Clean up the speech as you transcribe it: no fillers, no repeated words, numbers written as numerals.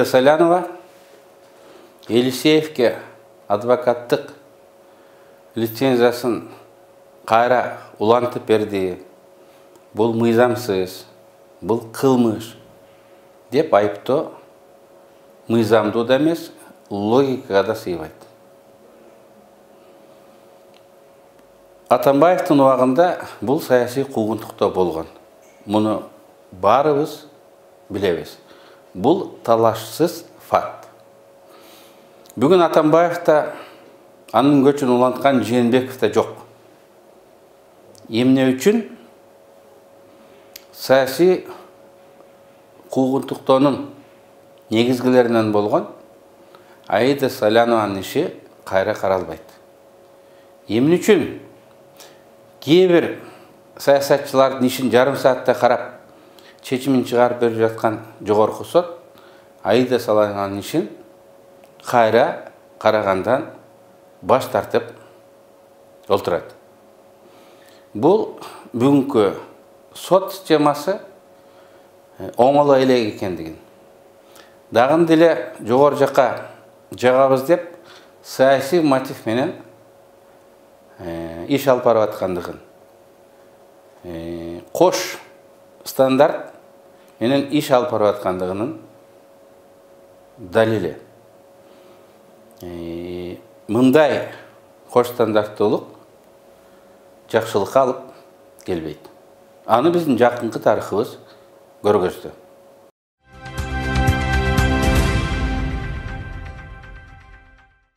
Салянова Елисеевке адвокаттык лицензиясын кайра улантып берди. Бул мыйзамсыз, бул кылмыш деп айыптоо мыйзамдуу да эмес, логикага да сыйбайт. Атамбаевдин убагында бул саясий куугунтуктоо болгон. Муну баарыбыз билебиз. Бул талашсыз факт. Бүгүн Атамбаевда анын көчүн уланткан Жээнбеков да жок. Эмне үчүн? Саясий куугунтуктоонун негизгилеринен болгон Аида Салянованын иши кайра каралбайт. Эмне үчүн? Кээ бир саясатчылардын ишин жарым саатта карап, чечимин чыгарып берип жаткан жогорку сот Аида Салянованын ишин кайра карагандан баш тартып олтурат. Бул бүгүнкү сот системасы оңоло элек экендигин, дагы деле жогору жака жагабыз деп саясий мотив менен иш алып барып аткандыгын, кош стандарт менен иш алып барып аткандыгынын далили. Мындай кош стандарттуулук жакшылыкка алып келбейт. Аны биздин жакынкы тарыхыбыз көргөздү.